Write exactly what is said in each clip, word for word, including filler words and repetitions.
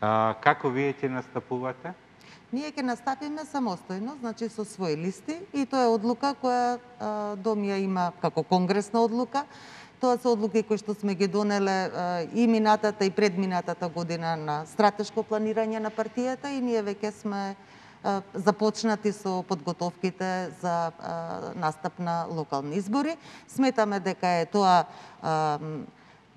А, како вие ќе настапувате? Ние ќе настапиме самостојно, значи со своји листи, и тоа е одлука која а, Дом ја има како конгресна одлука. Тоа се одлуки кои што сме ги донеле а, и минатата и предминатата година на стратешко планирање на партијата, и ние веќе сме а, започнати со подготовките за а, настап на локални избори. Сметаме дека е тоа а,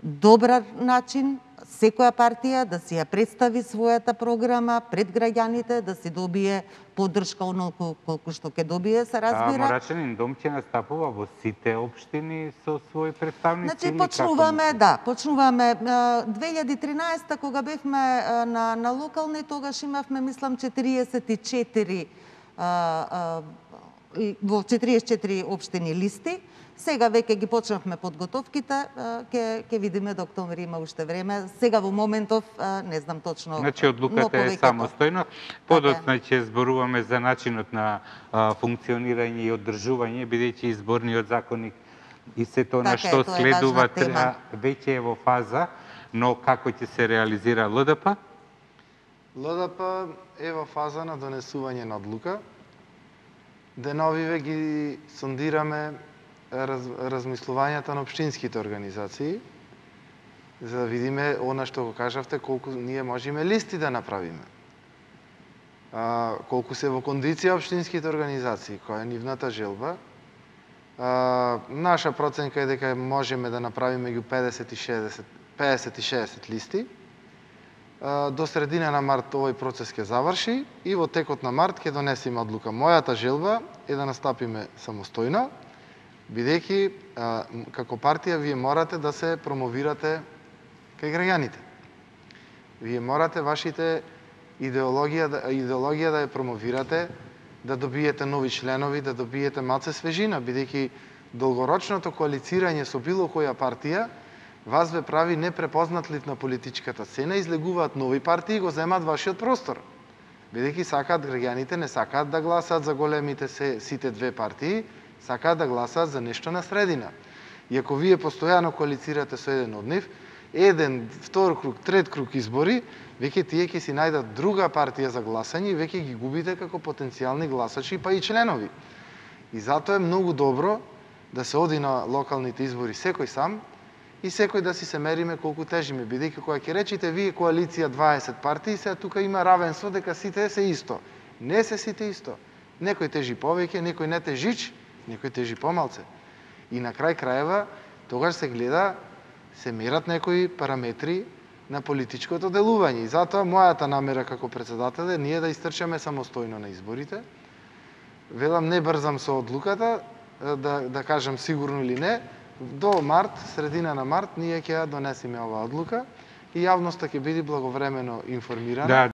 добар начин секоја партија да си ја представи својата програма пред граѓаните, да си добие поддршка онолку колку што ќе добие, се разбира. А Морачанин Дом ќе настапува во сите општини со своји представници? Значи почнуваме, да, почнуваме две илјади и тринаесета кога бевме на на локални, тогаш имавме мислам четириесет и четири а, а, во четириесет и четири општини листи. Сега веќе ги почнавме подготовките, ќе ќе видиме до октомври, има уште време. Сега во моментов не знам точно. Значи одлуката е самостојна. Подоцна ќе зборуваме за начинот на а, функционирање и одржување, бидејќи изборниот законник и се тоа на што следува веќе е во фаза, но како ќе се реализира ЛДП? ЛДП е во фаза на донесување на одлука. Деновиве ги сондираме Раз, размислувањата на општинските организации, за да видиме она што го кажавте, колку ние можеме листи да направиме. А, колку се во кондиција општинските организации, која е нивната желба. А, наша проценка е дека можеме да направиме меѓу педесет и шеесет, педесет и шеесет листи. А, до средина на март овој процес ќе заврши и во текот на март ќе донесеме одлука. Мојата желба е да настапиме самостојно, бидејќи како партија вие морате да се промовирате кај граѓаните. Вие морате вашите идеологија, идеологија да ја промовирате, да добиете нови членови, да добиете малце свежина, бидејќи долгорочното коалицирање со било која партија вас ве прави непрепознатлив на политичката сцена, излегуваат нови партии и го земаат вашиот простор. Бидејќи сакаат граѓаните, не сакаат да гласаат за големите се, сите две партии, сакаат да гласаат за нешто на средина. И ако вие постојано коалицирате со еден од нив, еден, втор круг, трет круг избори, веќе тие ќе си најдат друга партија за гласање и веќе ги губите како потенцијални гласачи, па и членови. И затоа е многу добро да се оди на локалните избори секој сам и секој да си се мериме колку тежиме, бидејќи кога ќе речите вие коалиција дваесет партии, сега тука има равенство дека сите се исто. Не се сите исто. Некој тежи повеќе, некој не тежич, некој тежи помалце. И на крај краева, тогаш се гледа, се мерат некои параметри на политичкото делување. И затоа мојата намера како председател е ние да истрчаме самостојно на изборите. Велам, не брзам со одлуката, да, да кажам сигурно или не, до март, средина на март, ние ќе ја донесеме оваа одлука и јавноста ќе биде благовремено информирана.